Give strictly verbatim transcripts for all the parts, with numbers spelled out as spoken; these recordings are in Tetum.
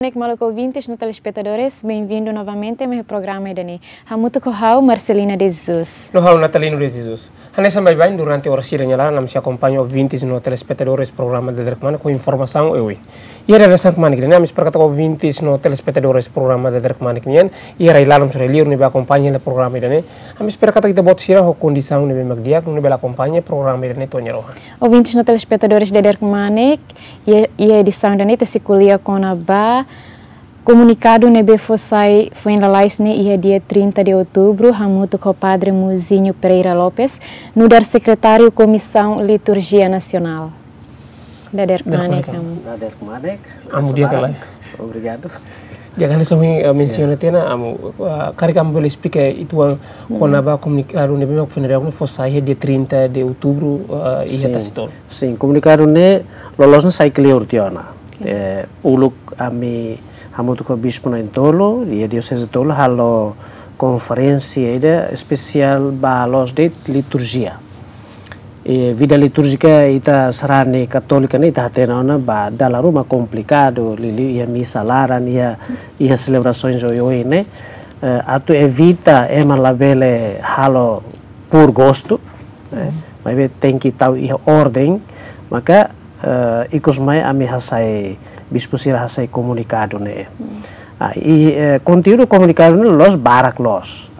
Boa noite, maluk ouvintes no telespetadores, bem-vindo novamente ao meu programa ida-ne'e. Hamutuk ho ha'u, Marcelina de Jesus. No ha'u, Natalino de Jesus. Hanesan baibain, durante oras ida nia laran, ami sei akompaña ouvintes no telespetadores programa Dadeer Kmanek ho informasaun oioin. Iha dadeer-saan kmanek ida-ne'e, ami espera katak ouvintes no telespetadores programa Dadeer Kmanek nian, iha rai-laran sira liur ne'ebé akompaña hela programa ida-ne'e, ami espera katak ita-boot sira ho kondisaun ne'ebé mak di'ak, nune'e bele akompaña programa ida-ne'e to'o nia rohan. Ouvintes no telespetadores Dadeer Kmanek, iha, iha edisaun ida-ne'e ita sei ko'alia kona-ba komunikadu ne'ebé fó sai foin lalais ne'e iha dia trinta de outubro, hamutuk ho Padre Muzinho Pereira Lopes, nu'udar sekretáriu Komisaun Liturjia Nasionál. Dadeer kmanek, Dadeer kmanek, amu. Dadeer kmanek. Amu di'ak ka lae? Obrigadu. Di'ak, hanesan ohin, eh, mensiona tiha ona, amu, eh, karik amu bele esplika uitoan kona-ba komunikadu ne'ebé mak Funeral ne'e fó sai iha dia trinta de outubro, eh, iha Sin. Tasitolu. Sin, komunikadu ne'e loloos ne'e sai kleur tiha ona. Oke. Eh, uluk ami hamutuk ho bispu na'in-tolu iha dioseze tolu halo konferénsia ida espesiál ba loos de'it liturjia. Eh, vida litúrjika ita sarani katólika ne'e ita hatene ona ba dala ruma komplikadu, liuliu iha misa laran, iha, iha selebrasoens oioin ne'e. Eh, atu evita ema labele halo por gostu, eh, maibé tenke tau iha orden, maka, eh, ikus mai ami hasai, bispu sira hasai komunikadu ne'e. Ah, i, eh, konteúdu komunikadu ne'e loos barak loos.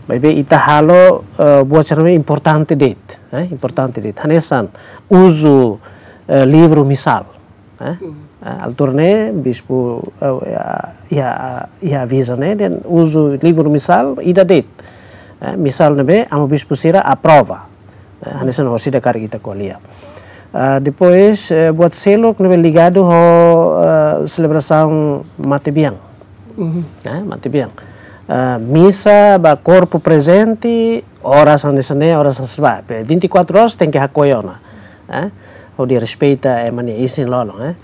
Maibé ita halo, eh, buat sira ne'ebé importante de'it, eh, importante de'it. Hanesan uzu, eh, livru misál, eh. Eh, altura ne'e bispu, eh, iha, iha aviza ne'e dehan uzu livru misál ida de'it. Eh, misál ne'ebé amu bispu sira aprova. Eh, hanesan orsida karik ita ko'alia. Ah, depois, eh, buat seluk ne'ebé ligadu ho, eh, selebrasaun matebian. Eh, matebian. Ah, misa ba korpu prezente, oras hanesan ne'e, oras hanesan ne'ebá. Pe vinte e quatro horas tenke hakoi ona. Eh, hodi respeita ema nia isin-lolon, eh.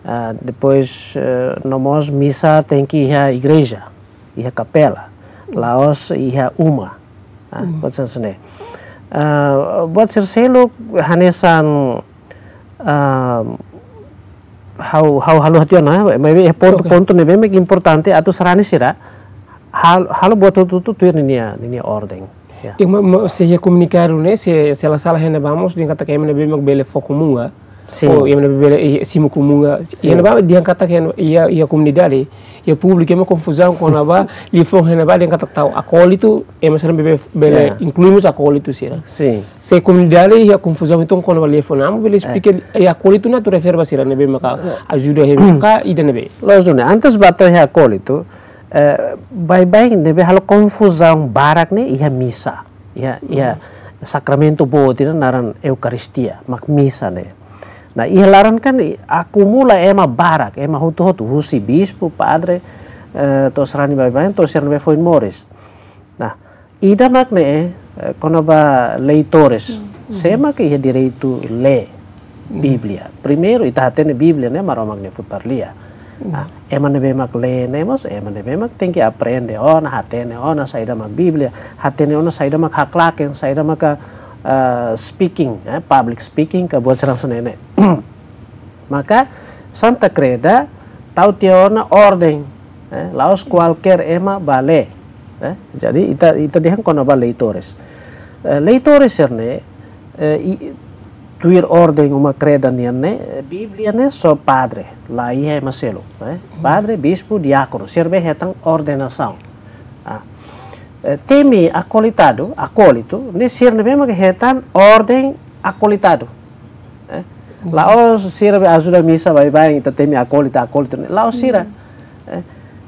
Ah, depois, eh, no mós misa tenke iha igreja, iha kapela. La'ós iha uma. Ah, buat sira hanesan ne'e. Ah, buat sira seluk hanesan, ah, ha'u, ha'u haluha tiha ona, maibé pontu-pontu ne'ebé mak importante atu sarani sira hal-, halo buat hotu-hotu tuir ninia, ninia orden. Ya. Iha ma, ma, se iha komunikadu ne'e, se, se la sala hena vamos, dehan katak ema ne'ebé mak bele fó komunga. Sin. Ou ema ne'ebé bele, eh, simu komunga. Sin. Iha ne'ebá dehan katak iha, iha komunidade, iha públiku, ema konfuzaun kona-ba liafuan iha ne'ebá dehan katak tau akólitu, ema sira ne'ebé bele, ya, inklui mós akólitu sira. Sin. Se komunidade iha konfuzaun entaun kona-ba liafuan, amu bele esplika, eh, akólitu ne'e atu refere ba sira ne'ebé maka ajuda hebe ka ida ne'ebé. Loos duni, antes ba to'o iha akólitu, eh, baibain ne'ebé halo konfuzaun barak ne'e iha misa. Iha, iha sakramentu boot ida naran Eukaristia, mak misa ne'e. Nah, iha laran kan i-, akumula ema barak, ema hotu-hotu, husi bispu, padre, eh, to'o sarani baibain, to'o sira ne'ebé foin moris. Nah, ida mak ne'e, eh, kona-ba leitores. Sé mak iha direitu lee Bíblia. Primeiru, ita hatene Bíblia ne'e Maromak nia futar lia. Ah, ema ne'ebé mak lee ne'e mós, ema ne'ebé mak tenke aprende ona, hatene ona saida mak Bíblia, hatene ona saida mak haklaken, saida maka, eh, speaking, eh, public speaking ka buat sira hanesan ne'e. Maka Santa Kreda tau tiha ona orden, eh, la'ós kualkér ema bá lee, eh. Jadi ita, ita dehan kona-ba leitores. Eh, leitores sira-ne'e, eh, i, tuir orden Uma Kreda nian ne'e, eh, Bíblia ne'e só padre, la iha ema seluk, eh. Padre, bispu, diákonu, sira be hetan ordenasaun. Ah. Eh, temi akolitadu, akólitu, ne'e sira ne'ebé mak hetan orden akolitadu. Eh, la'ós sira be ajuda misa baibain, ita temi akólitu, akólitu ne'e. La'ós sira. Eh,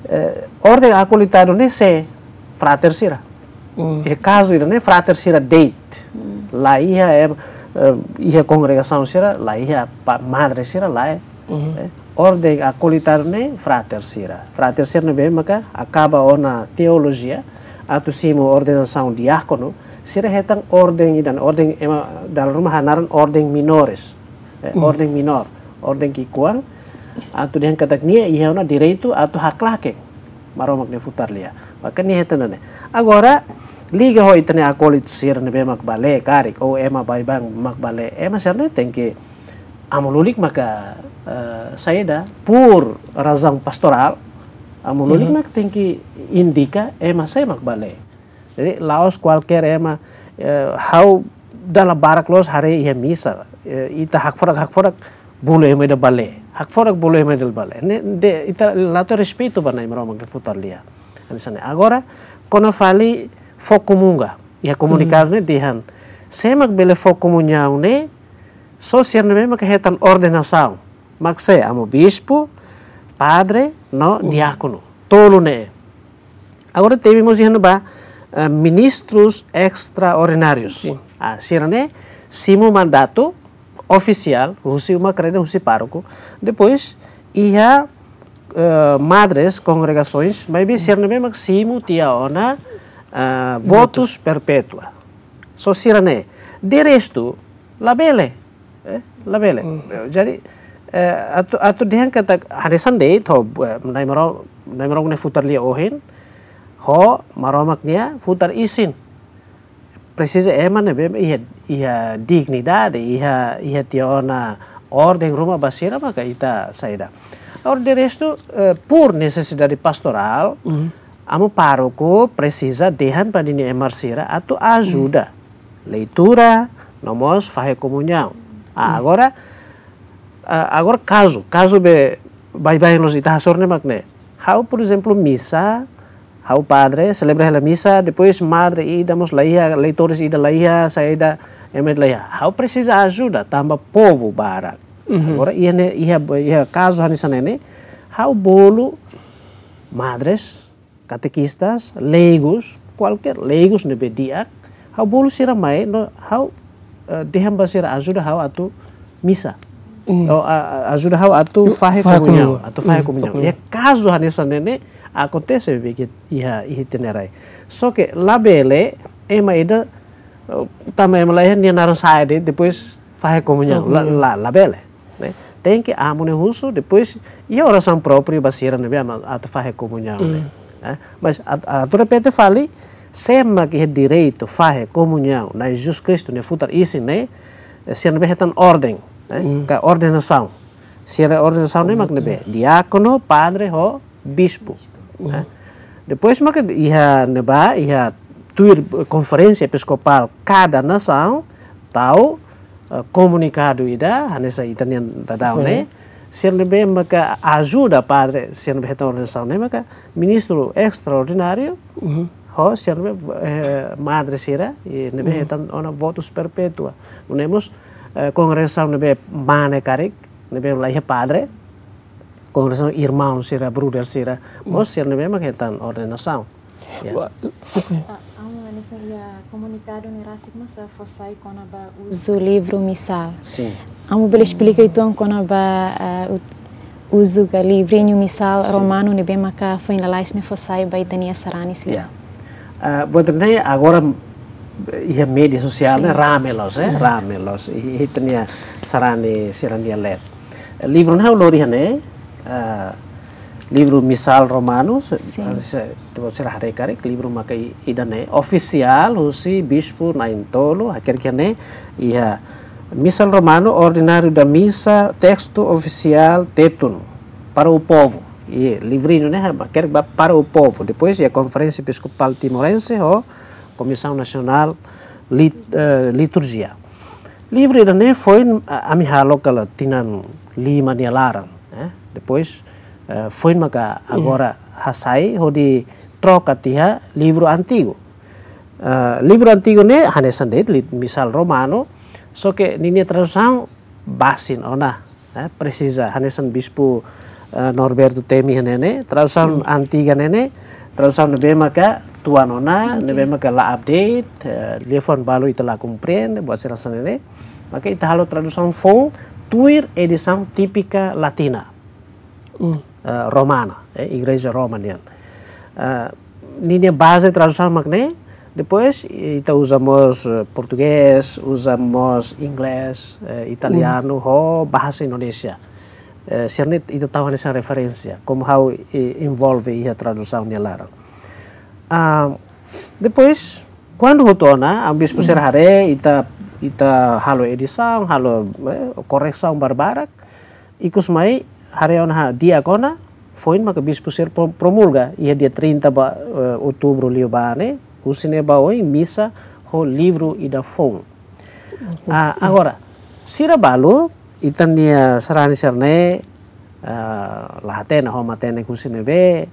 eh, orden akolitadu ne'e sé, frater sira. Iha kazu ida-ne'e frater sira de'it. La iha, eh, eh, iha kongregasaun sira, la iha pa-, madre sira, lae. Eh, orden akolitadu ne'e frater sira. Frater sira ne'ebé maka akaba ona teolojia, atu simu ordenasaun diákonu, sira hetan orden ida-ne'e, orden ema dala ruma hanaran orden minores. Eh, orden minór, orden ki'ikoan, atu dehan katak nia iha ona direitu atu haklaken Maromak nia futar lia. Maka nia hetan ne'e. Agora, liga ho ita-nia akólitu sira ne'ebé mak bá lee karik, ou ema baibain mak bá lee. Ema sira-ne'e tenke amu lulik maka eh, saida, por razaun pastorál, amu lulik mak tenke indika ema sé mak bá lee. Jadi, la'ós kualkér ema, eh, ha'u dala barak loos haree iha misa, eh, ita hakfodak, hakfodak, bolu ema ida bá lee. Hakfodak, bolu ema ida bá lee. Ne'e, de, ita la tau respeitu ba Nai Maromak nia futarlia. Hanesan ne'e. Agora, kona fali fó komunga. Iha komunikadu ne'e dehan, sé mak bele fó komuñaun ne'e, só sira ne'ebé mak hetan ordenasaun. Mak sé, amu bispu, padre, no diákonu. Tolu ne'e. Agora temi mós iha ne'ebá, eh, ministrus estraordinárius. Sin. Ah, sira-ne'e simu mandatu ofisiál, husi uma kreda, husi pároku. Depois, iha, eh, madres kongregasoens, maibé sira ne'ebé mak simu tiha ona, eh, votus perpétua. Só sira-ne'e. De restu, labele. Eh, labele. Eh, jadi, eh, atu, atu dehan katak hanesan de'it, ho, eh, Nai Maro-, Nai Maromak nia futarlia ohin, ho Maromak nia futar isin. Presiza ema ne'ebé iha, iha dignidade, iha, iha tiha ona orden ruma ba sira maka ita saida. Agora de restu, eh, por nesesidade pastorál, amu pároku presiza dehan ba ninia ema sira atu ajuda. Leitura, no mós fahe komuñaun. Ah, agora, ah, agora kazu, kazu be baibain loos ita hasoru ne'e mak ne'e. Ha'u, por ezemplu, misa, ha'u padre, selebra hela misa, depois madre ida mós la iha, leitores ida la iha, saida, ema ida la iha. Ha'u presiza ajuda, tanba povu barak. Agora, iha ne'e, iha, iha kazu hanesan ne'e ne'e, ha'u bolu madres, katekistas, leigus, kualkér leigus ne'ebé di'ak, ha'u bolu sira mai, no ha'u, eh, dehan ba sira ajuda ha'u atu misa. Ou, a, a, ajuda ha'u atu fahe komuñaun, atu fahe komuñaun. Iha kazu hanesan ne'e ne'e akontese be ke iha, iha ita-nia rai. Só ke labele ema ida, eh, tanba ema la iha nia naran sa'e de'it, depois fahe komuñaun. La, la, labele. Ne'e? Tenke amu ne'e husu, depois iha orasaun própriu ba sira ne'ebé mak atu fahe komuñaun ne'e. Eh? Mas at-, atu repete fali, sé mak iha direitu fahe komuñaun Nai Jesus Kristu nia futar isin ne'e, eh, sira ne'ebé hetan orden, eh? Ka ordenasaun. Sira ordenasaun ne'e mak ne'ebé, diákonu, padre ho bispu. Eh? Depois maka iha ne'ebá, iha tuir konferénsia episkopál kada nasaun, tau, eh, komunikadu ida, hanesan ita-nian daudaun ne'e, sira ne'ebé maka ajuda padre, sira ne'ebé hetan ordenasaun ne'e maka ministru estraordináriu, ho sira ne'ebé, eh, madre sira, i ne'ebé hetan ona votus perpétua. Nune'e mós, eh, kongregasaun ne'ebé mane karik, ne'ebé la iha padre, kongregasaun irmaun sira, brother sira, mós sira ne'ebé mak hetan ordenasaun. Ya. Ah, amu hanesan iha komunikadu ne'e rasik mós fó sai kona-ba uzu livru misal. Sin. Amu bele esplika uitoan kona-ba, ah, u-, uzu ka livrinhu misal romanu ne'ebé maka foin lalais ne'e fó sai ba ita-nia sarani sira. Ya. Ah, buat ne'e agora iha média sosiál ne'e rame loos, eh? Rame loos. I, i ita-nia sarani sira-nia leet. Livru ne'e ha'u lori iha ne'e, eh, livru misal romanu, se, se, ita-boot sira haree karik, livru maka i-, ida-ne'e, ofisiál, husi bispu na'in-tolu, hakerek iha ne'e, iha misal romanu, ordináriu da misa, texto oficial, Tetun, para o povo. I livrinhu ne'e, hakerek ba para o povo. Depois, iha Conferência Episcopal Timorense, ho Comissão Nacional Lit-, eh, Liturgia. Livru ida-ne'e foin, a-, ami halo kala tinan lima nia laran, eh. Depois, eh, foin maka agora hasai hodi troka tiha livru antigu. Eh, livru antigu ne'e hanesan de'it, li-, misal romanu, só ke ninia tradusaun basin ona, eh, presiza, hanesan bispu, eh, Norberto temi iha ne'e ne'e, tradusaun antiga ne'e ne'e, tradusaun ne'ebé maka tuan ona, ne'ebé maka la update, eh, liafuan balu ita la komprende, buat sira hanesan ne'e ne'e. Maka ita halo tradusaun foun tuir edisaun típika latina. Eh, romana, eh, Igreja Roma nian. Eh, ninia baze tradusaun mak ne'e, depois ita uza mós, eh, portugés, uza mós inglés, eh, italianu, ho bahasa Indonézia. Eh, sira-ne'e ita tau hanesan referénsia, komu ha'u, eh, envolve iha tradusaun nia laran. Ah, depois, kuandu hotu ona, amu bispu sira haree, ita, ita halo edisaun, halo, eh, korresaun barbarak, Ikus mai, haree ona di'ak ona, foin maka bispu sira pro-, promulga, iha dia trinta ba, eh, outubru liubá ne'e, husi ne'ebá oin misa ho livru ida foun. Ah, agora, sira balu, ita-nia sarani sira-ne'e, ah, la hatene ho matenek husi ne'ebé,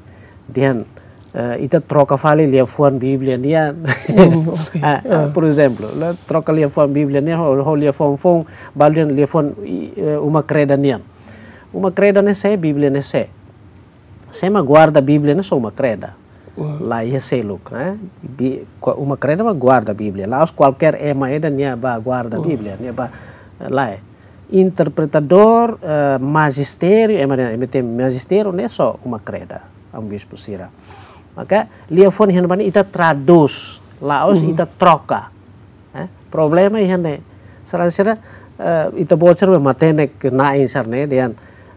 dehan, eh, ita troka fali liafuan Bíblia nian. Hmm, oke. Ah, ah, ah, por ezemplu, la troka liafuan Bíblia nian, ho, ho liafuan foun, balu dehan liafuan, i, eh, Uma Kreda nian. Uma Kreda ne'e sé, Bíblia ne'e sé. Sé mak guarda Bíblia ne'e só Uma Kreda. Hmm. La iha seluk, eh? Bi-, kua-, Uma Kreda mak guarda Bíblia. La'ós kualkér ema ida nia bá guarda, hmm, Bíblia, nia bá, eh, lae. Interpretadór, eh, majistério, ema ida, ema ida majistério, ne'e só Uma Kreda, amu bispu sira. Maka, liafuan iha ne'ebá ne'e ita tradús, la'ós, hmm, ita troka. Eh, problema iha ne'e. Sarani sira, eh, ita-boot sira be matenek na'in sira-ne'e dehan,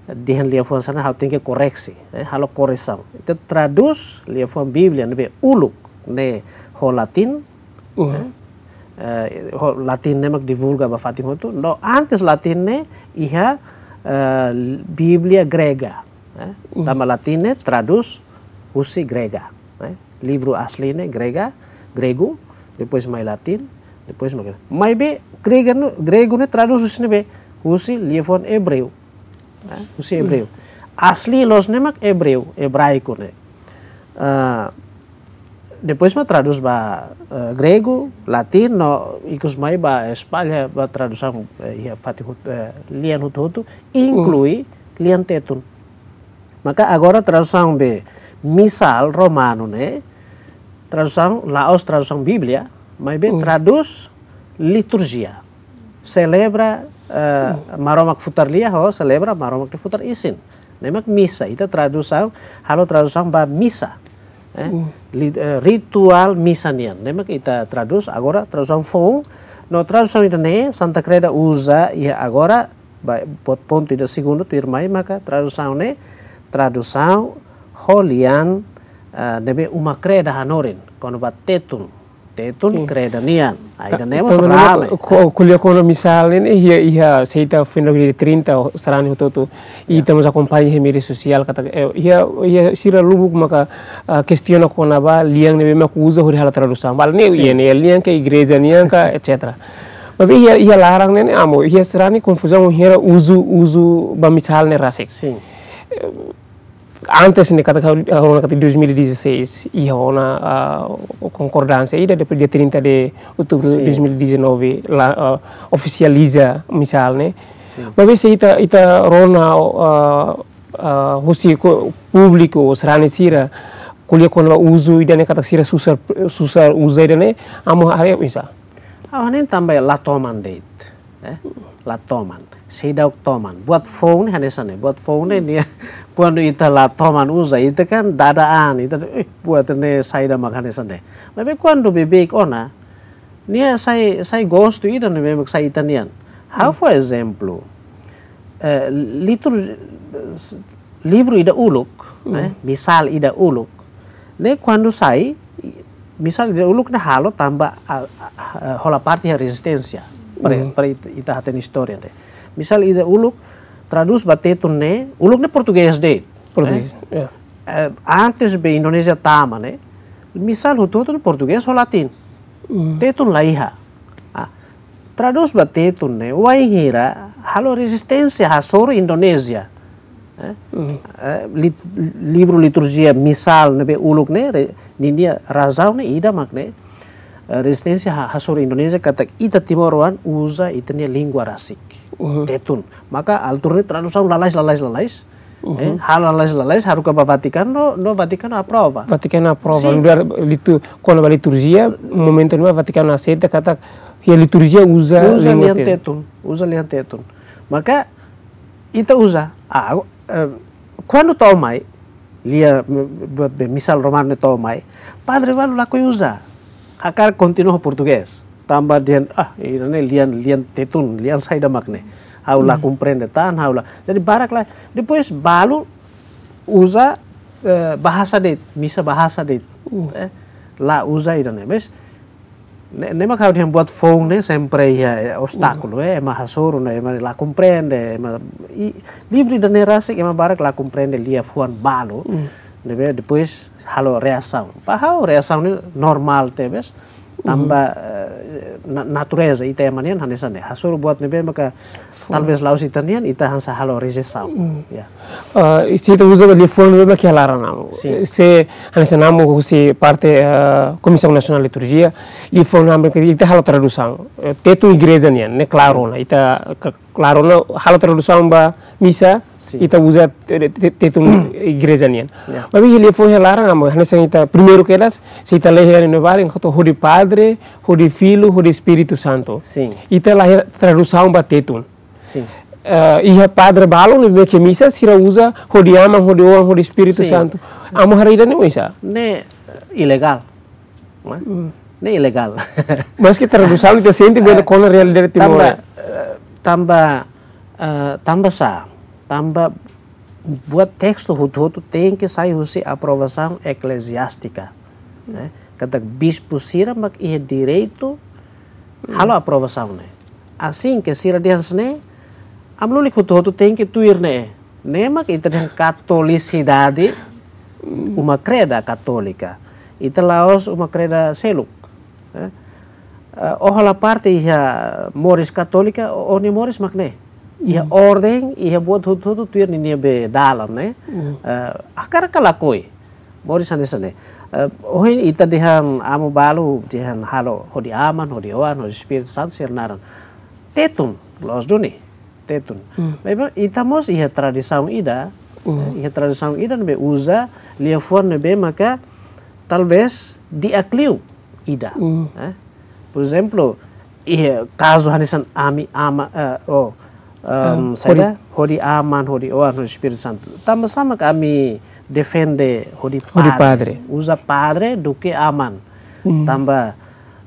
dehan liafuan sira-ne'e ha'u tenke koreksi, eh, halo koresaun. Ita tradús liafuan Bíblia ne'ebé uluk ne'e ho latin, hmm, eh, eh, ho latin ne'e mak divulga ba fatin hotu. No antes latin ne'e iha, eh, Bíblia grega, eh. Hmm. Tanba latin ne'e tradús husi grega, eh. Livru asli ne'e grega, gregu, depois mai latin, depois mai grega. Maibé grega ne'e, gregu ne'e tradús husi ne'ebé? Husi liafuan ebreu. Eh, husi ebreu. Hmm. Asli loos ne'e mak ebreu, ebraiku ne'e. Ah, depois mak tradús ba, eh, gregu, latin, no ikus mai bá espalla ba tradusaun, eh, iha fatin hot-, eh, lian hotu-hotu, hmm, inklui lian tetun. Maka agora tradusaun be Misál romanu ne'e, tradusaun, la'ós tradusaun Bíblia, maibé, hmm, tradús liturjia. Selebra, eh, hmm, Maromak Futar Lia ho selebra Maromak Futar Isin. Ne'e mak misa, ita tradusaun, halo tradusaun ba misa. Eh, hmm, li-, eh, rituál misa nian. Ne'e mak ita tradús, agora tradusaun foun, no tradusaun ida-ne'e, Santa Kreda uza, iha agora, ba, pon-, pontu ida segundu tuirmai maka tradusaun ne'e, tradusaun ho lian, eh, ne'ebé Uma Kreda hanorin, kona-ba tetun, tetun, sin, Kreda nian. Ai, ta-, ida-ne'e mós tanba ne'e rame, ko-, eh, ko'alia kona-ba Misál ne'e, iha, iha, se ita foin lori trinta, sarani hotu-hotu, ya, ita mós akompaña iha média sosiál, katak, eh, iha, iha sira lubuk maka, ah, kestiona kona-ba lian ne'ebé mak uza hodi halo tradusaun. Balu ne'e, sin, iha ne'e lian ka igreja nian ka, et cetera. Maibé iha, iha laran ne'e, ne'e amu, iha sarani konfuzaun hira uzu, uzu ba Misál ne'e rasik. Sin. Eh, antes ne'e katak, eh, ona katak dois mil e dezasseis, iha ona, ah, konkordánsia ida, depois dia trinta de outubro, sin, dois mil e dezanove, la, ah, ofisializa Misál ne'e. Sin. Maibé se ita, ita rona, ah, ah, husi ko-, públiku, sarani sira, ko'alia kona-ba uzu ida-ne'e katak sira susar, susar uza ida-ne'e, amu haree oinsá? Ha'u hanoin tanba la toman de'it, eh? La toman. Seidauk toman. Buat foun ne'e hanesan ne'e. Buat foun ne'e nia, kuandu ita la toman uza, ita kan dada an, ita, eh, buat ne'e saida mak hanesan ne'e. Maibé kuandu beibeik ona, nia sai, sai gostu ida ne'ebé mak sai ita-nian. Ha'u, hmm, fó ezemplu. Eh, litur-, livru ida uluk, hmm, eh, Misál ida uluk. Ne'e kuandu sai, Misál ida uluk ne'e halo tanba, a, a, a, hola parte iha rezisténsia. Para, hmm, para ita, ita hatene istória ne'e. Misál ida uluk tradús ba tetun ne'e, uluk ne'e portugés de'it. Portugés, eh? Ya. Eh, antes be Indonézia tama ne'e, Misál hotu-hotu ne'e portugés ho latin. Hmm. Tetun la iha. Ah, tradús ba tetun ne'e, wainhira halo rezisténsia hasoru Indonézia. Eh? Hmm. Eh, lit-, livru liturjia Misál ne'ebé uluk ne'e, re-, ninia razaun ne'e ida mak ne'e, eh, rezisténsia ha-, hasoru Indonézia katak ita timoroan uza ita-nia língua rasik. Hmm. Tetun. Maka altura ne'e tradusaun lalais, lalais, lalais. Mhm. Eh, halo lalais, lalais, haruka ba Vatikanu, no, no Vatikanu aprova. Vatikanu aprova. Sin. Lugar litu-, kona-ba liturjia, momentu ne'ebá Vatikanu aseita katak iha liturjia uza, uza língua lian te- tetun, uza lian tetun. Maka, ita uza, ah, eh, kuandu to'o mai, lia, buat be Misál romanu ne'e to'o mai, padre balu lakohi uza. Hakarak kontinua portugés. Tanba dehan, ah, ida-ne'e lian, lian tetun, lian saida mak ne'e. Ha'u la, hmm, komprende tan, ha'u la. Jadi barak la, depois balu uza, eh, bahasa de'it, misa bahasa de'it. Hmm. Eh, la uza ida-ne'e. Mas, Ne'e, ne'e mak ha'u dehan buat foun ne'e sempre iha, eh, obstákulu, eh, ema hasoru ne'e, ema la komprende, ema, i, livru ida-ne'e rasik ema barak la komprende liafuan balu. Ne'ebé depois halo reasaun. Ba ha'u reasaun ne'e normál tebes. Tanba, eh, na-, natureza ita ema nian hanesan ne'e. Hasoru buat ne'ebé maka talvez la'ós ita-nian, ita hanesan halo rejeisaun. Ya. Eh, se ita uza liafuan ne'ebé mak iha laran, Amu. Sin. Se hanesan Amu husi parte, eh, Komisaun Nasionál Liturjia, liafuan ne'ebé mak ita halo tradusaun. Eh, Tetun igreja nian, ne'e klaru ona. Ita ke-, klaru ona halo tradusaun ba misa, sin, ita uza te-, te-, Tetun igreja nian. Ya. Maibé liafuan iha laran, Amu, hanesan ita primeiru kedas, se ita lee iha ne'ebá, enkuantu hodi Padre, hodi Filho, hodi Espíritu Santo. Sin. Ita la iha tradusaun ba Tetun. Sin. Eh, iha padre balu ne'ebé ke misa, sira uza hodi Aman, hodi Oan, hodi Espíritu, sin, Santu. Amu haree ida-ne'e oinsá? Ne'e, eh, ilegál. Ne'e? Mm. Ne'e ilegál. Maske tradusaun ita sente bele, eh, kona realidade Timor. Tanba, eh, tanba, eh, tanba sá, tanba buat testu hotu-hotu tenke sai husi aprovasaun ekleziástika. Ne'e? Katak bispu sira mak iha direitu halo aprovasaun ne'e. Asin ke sira dehan hanesan ne'e, Amu lulik hotu-hotu tenke tuir ne'e. Ne'e mak ita dehan katolisidade, uma kreda katólika. Ita la'ós uma kreda seluk. Eh, eh, ó halo parte iha moris katólika, ó-nia moris mak ne'e. Iha orden, iha buat hotu-hotu tuir ninia be dalan, ne'e. Eh, hakarak ka lakohi. Moris hanesan ne'e. Eh, ohin ita dehan Amu balu, dehan halo hodi Aman, hodi Oan, hodi Espíritu Santu, sira naran. Tetun, loos duni. Tetun. Mm. Maibé ita mós iha tradisaun ida, mm, eh, iha tradisaun ida ne'ebé uza liafuan ne'ebé maka talvez di'ak liu ida. Mm. Eh? Por ezemplu, iha kazu hanesan ami, Ama, eh, oh, em, ah, saida? Hodi Aman, hodi Oan, hodi Espíritu Santu. Tanba sá mak ami defende hodi, hodi Padre. Padre. Uza Padre duké Aman. Mm. Tanba,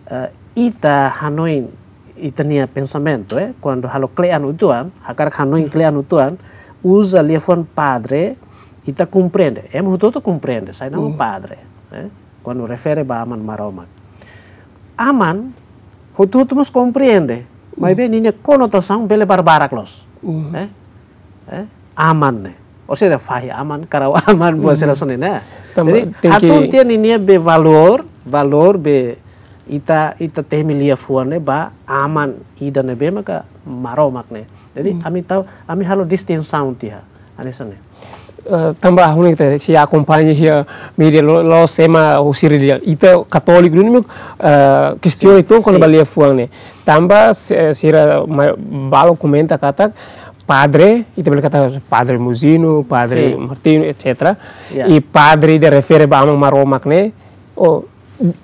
eh, ita hanoin ita-nia pensamentu, eh, kuandu halo kle'an uitoan, hakarak hanoin kle'an uitoan, uza liafuan Padre, ita komprende. Ema hotu-hotu komprende, saida mak Padre, eh, kuandu refere ba Aman Maromak. Aman, hotu-hotu mós komprende, maibé ninia konotasaun bele barbarak loos. Eh? Eh, Aman ne'e. Ou seja, fahi Aman, karau Aman, buat sira hanesan ne'e. Tanba, jadi, tenke hatún tiha ninia be valór, valór be ita, ita temi liafuan ne'e ba Aman ida ne'ebé maka Maromak ne'e. Jadi, ami tau, ami halo distinsaun tiha. Hanesan ne'e. Eh, tanba ha'u ne'e ita, se akompaña iha média lo, la'ós ema husi relijiaun. Ita katóliku duni, eh, kestiona uitoan kona-ba liafuan ne'e. Tanba se-, sira ma-, balu komenta katak padre, ita bele katak Padre Muzino, Padre Martinho, et cetera. Ya. I padre ida refere ba Aman Maromak ne'e, oh,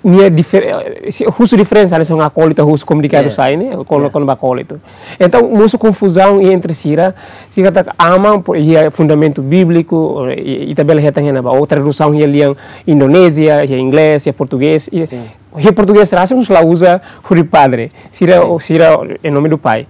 nia difer-, eh, se husu diferensa, hanesan akólita husu komunikadu sai ne'e, kona-, kona-ba akólita. Entaun, mosu konfuzaun entre sira, sira katak Aman, po-, iha fundamentu bíbliku, i, ita bele hetan iha ne'ebá, ou tradusaun iha lian Indonézia, iha inglés, iha portugés, i, iha portugés rasik mós la uza hodi Padre, sira, sira, em nome do Pai.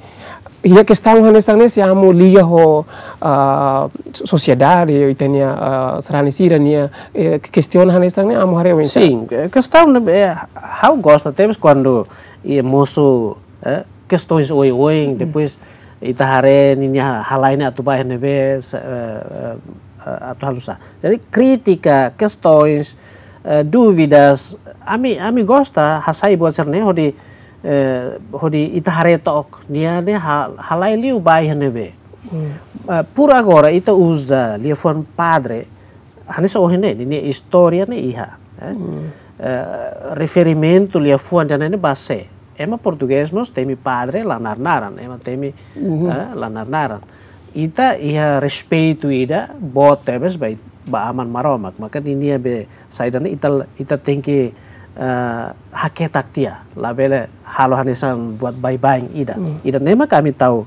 Iha kestaun hanesan ne'e, se Amu liga ho, ah, sosiedade, ita-nia, ah, sarani sira-nia, eh, kestiona hanesan ne'e, Amu haree oinsá? Sin, eh, kestaun ne'e, eh, ha'u gosta tebes kuandu, eh, mosu, eh, kestaun oioin, depois ita haree ninia halai ne'e atu ba iha ne'ebé, eh, eh, eh, atu halo sá. Jadi, krítika, kestaun, eh, dúvidas, ami, ami gosta hasai buat sira-ne'e, hodi, eh, hodi ita haree took, nia ne'e ha-, halai liu ba iha ne'ebé. Eh, por agora, ita uza liafuan padre, hanesan ohin ne'e, ninia istória ne'e iha, eh. Eh, referimentu liafuan ida-ne'e ba sé. Ema portugés mós temi padre la narnaran, ema temi, eh, la narnaran. Ita iha respeitu ida boot tebes ba, ba Aman Maromak, maka ninia be saida ne'e ita, ita tenke, eh, haketak tiha, labele halo hanesan buat baibain ida. Ida-ne'e mak ami tau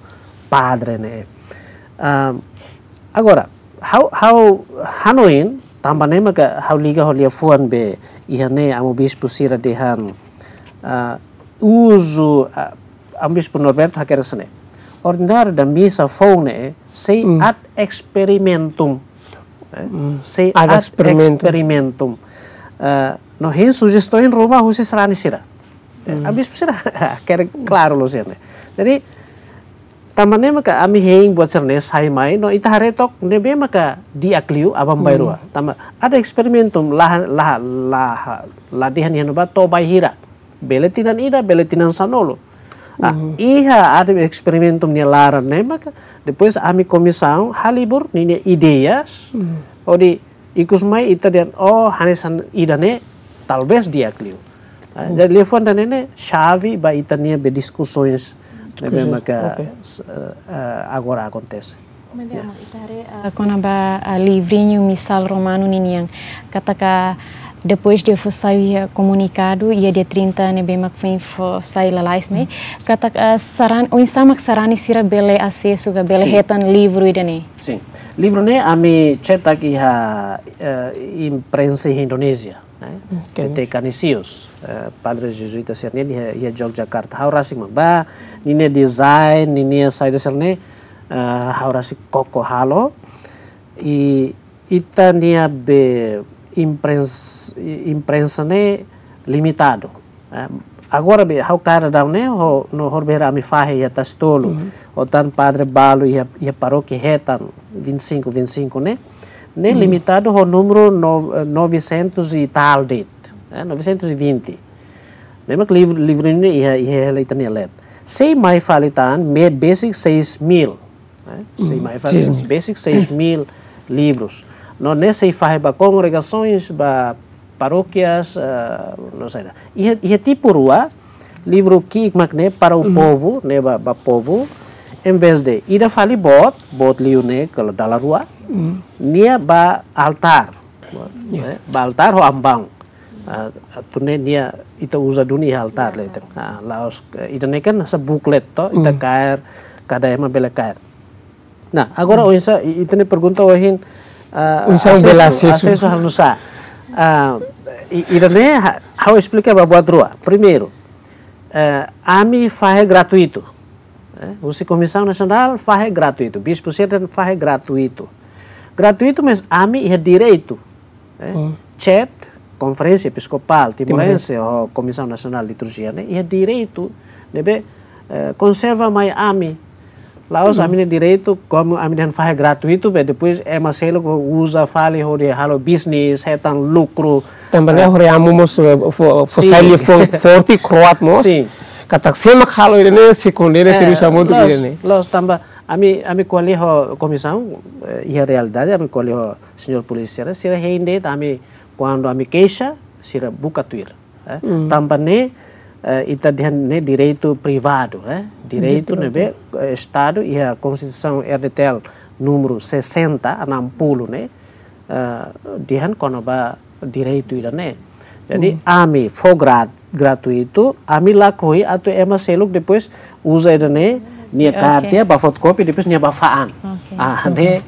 padre ne'e. Ehm, agora, ha'u, ha'u hanoin, tanba ne'e maka ha'u liga ho liafuan be iha ne'e Amu Bispu sira dehan, ah, uzu, ah, Amu Bispu Norberto hakerek hanesan ne'e. Ordináriu da misa foun ne'e sei ad experimentum. Eh, sei ad experimentum. Eh, no hein sujestaun ruma husi sarani sira. Ami bispu sira hakerek klaru loos sira-ne'e. Jadi, tanba ne'e maka ami hein buat sira-ne'e sai mai, no ita haree took ne'ebé maka di'ak liu, aban-bainrua. Tanba ada eksperimentu, la, la, la, la dehan iha ne'ebá to'o bainhira. Bele tinan ida, bele tinan sanulu. Ah, iha ada eksperimentu nia laran ne'e maka, depois ami komisaun halibur ninia ideias, hodi ikus mai ita dehan, oh, hanesan ida-ne'e, talvés di'ak liu. Ah, jadi liafuan ida-ne'e ne'e xave ba ita-nia be diskusoens ne'ebé maka, eh, eh, agora akontese. Maibé, ita haree, eh, kona-ba, eh, livrinhu misál romanu ninian. Katak depois de fó sai, eh, komunikadu, iha dia trinta ne'ebé mak foin fó sai lalais ne'e. Katak, eh, saran, oinsá mak sarani sira bele asesu ka bele hetan livru ida-ne'e. Sin. Livru ne'e ami cetak iha, eh, imprensa Indonézia, eh, T T Canisius, eh, padre jezuíta sira-ne'e iha, iha Yogyakarta. Ha'u rasik mak bá, ninia design, ninia saida sira-ne'e, eh, ha'u rasik koko halo. I ita-nia be imprens-, i-, imprensa ne'e limitadu. Eh, agora be, ha'u kaer daudaun ne'e, ho, no horibainhira ami fahe iha Tasi Tolu. Ho tan padre balu iha, iha parókia hetan, vinte e cinco, vinte e cinco ne'e. Ne'e limitadu ho númeru no-, eh, novecentos e tal de'it. Eh, novecentos e vinte. Ne'e mak livru, livru ne'e iha, iha hela ita-nia leet. Sei mai fali tan, me besik seis mil. Eh, sei mai fali, besik seis mil livrus. No ne'e sei fahe ba kongregasoens, ba parókias, eh, no sei. Iha, iha tipu rua, livru ki'ik mak ne'e para o povo, ne'e ba, ba povu, em vez de ida fali boot, boot liu ne'e, kalau dala rua, nia ba altár. Eh, ba altár ho ambaun. Ah, atu nune'e nia ita uza duni iha altár leten. Ah, la'ós, eh, ida-ne'e kan hanesan booklet to, ita kaer, kada ema bele kaer. Nah, agora oinsá, i-, ita-nia pergunta ohin, ah, oinsá bele asesu, asesu halo nu'usá. Ah, i-, ida-ne'e ha-, ha'u esplika ba buat rua. Primeiru, eh, ami fahe gratuitu. Eh, husi Komisaun Nasionál fahe gratuitu. Bispu sira dehan fahe gratuitu. Gratuitu, mas ami iha direitu. Eh, chat, Konferénsia Episkopál Timorense ho Komisaun Nasionál Liturjia ne'e iha direitu ne'ebé, eh, konserva mai ami. La'ós ami-nia direitu, komu ami dehan fahe gratuitu, be depois ema seluk uza fali hodi halo bisnis, hetan lukru. Tanba ne'e hori amu mós, eh, fó, fó sai liafuan forte, kroat mós. Sin. Katak sé mak halo ida-ne'e, sé kondena, sé dusa hamutuk ida-ne'e. Loos, tanba ami, ami ko'alia ho komisaun, eh, iha realidade, ami ko'alia ho señór polísia, sira hein de'it ami, kuandu ami keixa, sira buka tuir. Eh, tanba ne'e, eh, ita dehan ne'e direitu privadu, eh. Direitu ne'ebé, eh, Estadu iha Konstituisaun R D T L númeru sessenta, enam puluh ne'e, eh, dehan kona-ba direitu ida-ne'e. Jadi, ami fó grat-, gratuitu, ami lakohi atu ema seluk depois uza ida-ne'e, nia kaer tiha, ba fotokopi, depois nia ba fa'an. Ah, ne'e,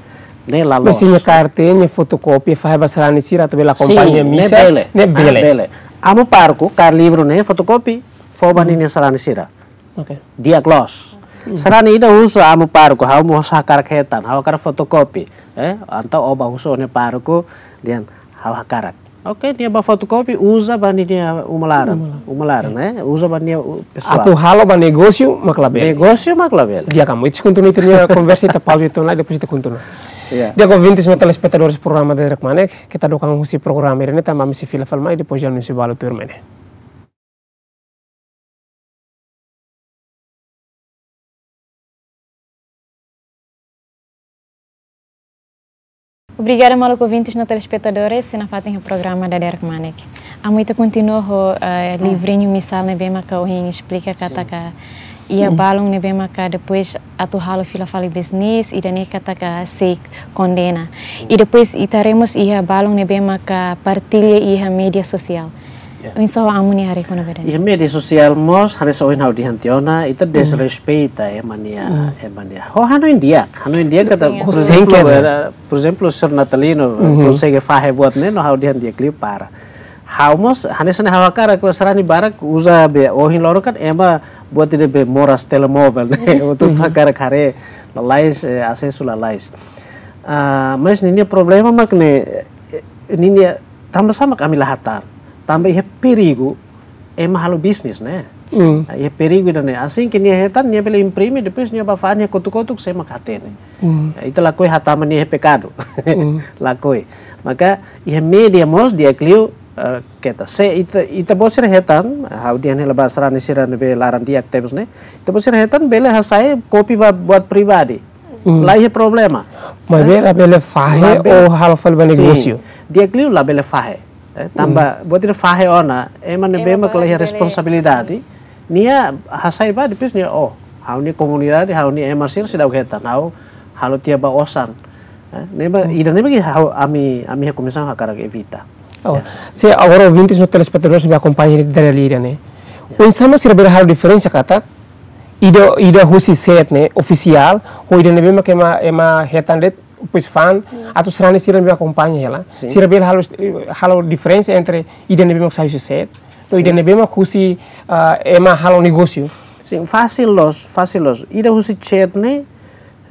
ne'e la loos. Mas se nia kaer tiha, nia fotokopi, fahe ba sarani sira atu bele akompaña misa, ne'e bele. Ah, bele. Amu pároku, kaer livru ne'e, fotokopi, fó ba ninia sarani sira. Di'ak loos. Sarani ida husu amu pároku, ha'u mós hakarak hetan, ha'u hakarak fotokopi. Eh, entaun ó ba husu ó-nia pároku, dehan ha'u hakarak. Oke, nia ba fotokopi, uza ba ninia uma laran. Uma laran, eh? Uza ba nia, u-, pesoál. Atu halo ba negósiu, mak labele. Negósiu, mak labele. Di'ak, amu, ita sei kontinua ita-nia konversa, ita pauza uitoan lai, depois ita kontinua. Di'ak, ouvintes no telespetadores programa Dadeer Kmanek, keta dook an husi programa ida-ne'e, tanba ami sei fila fali mai, depois de anúnsiu balu tuirmai ne'e. Obrigada, maluk ouvintes no telespetadores, sei nafatin iha programa Dadeer Kmanek. Amu, ita kontinua ho, eh, livrinhu misál ne'ebé maka ohin esplika katak iha balun ne'ebé maka depois atu halo fila fali bisnis, ida-ne'e katak sei kondena. I depois ita haree mós iha balun ne'ebé maka partilla iha média sosiál. Oinsá amu nia haree kona-ba ida-ne'e? Iha média sosiál mós, hanesan ohin ha'u dehan tiha ona, ita desrespeita ema nia, ema nia. Ho hanoin di'ak, hanoin di'ak katak, por ezemplu, eh, por ezemplu, señór Natalino, konsege fahe buat ne'e, no ha'u dehan di'ak liu para. Ha'u mós, hanesan ha'u hakarak, sarani barak uza be ohin loron kan ema buat ida be moras telemóvel ne'e, atu hakarak haree, lalais, eh, asesu lalais. Ah, mas ninia problema mak ne'e, eh, ninia tanba sá mak ami la hatán. Tanba iha perigu, ema halo bisnis ne'e. Hmm. Iha perigu ida-ne'e. Asin ke nia hetan, nia bele imprime, depois nia bá fa'an, nia kotuk-kotuk, sé mak hatene. Hmm. Ita lakohi hatama nia pekadu. Hmm. Lakohi. Maka iha média mós di'ak liu, eh, keta. Se ita, ita-boot sira hetan, ha'u dehan hela ba sarani sira ne'ebé laran di'ak tebes ne'e. Ita-boot sira hetan bele hasai kopia ba buat pribadi. Hmm. La iha problema. Maibé labele fahe, labele, ou halo fali ba, sin, negósiu. Di'ak liu labele fahe. Eh, tanba, hmm, buat ida fahe ona, ema ne'ebé mak la iha, ema barak bele, responsabilidade, sin, nia hasai ba, depois nia, oh, ha'u-nia komunidade, ha'u-nia ema sira seidauk hetan, ha'u halo tiha ba osan. Eh, ne'ebé, hmm, ida-ne'ebé ke ha'u, ami, ami iha komisaun hakarak evita. Oh, ya. Se agora ouvintes no telespetadores ne'ebé akompaña dala ida ne'e. Ya. Oinsá mak sira bele halo diferensa katak, ida, ida husi site ne'e ofisiál, ou ida ne'ebé mak ema, ema hetan de'it, depois fa'an, hmm, atu sarani sira ne'ebé akompaña hela. Sin. Sira bele halo, halo diferensa entre ida ne'ebé mak sai husi site, no ida, sin, ne'ebé mak husi, ah, ema halo negósiu. Sin, fasil loos, fasil loos. Ida husi site ne'e,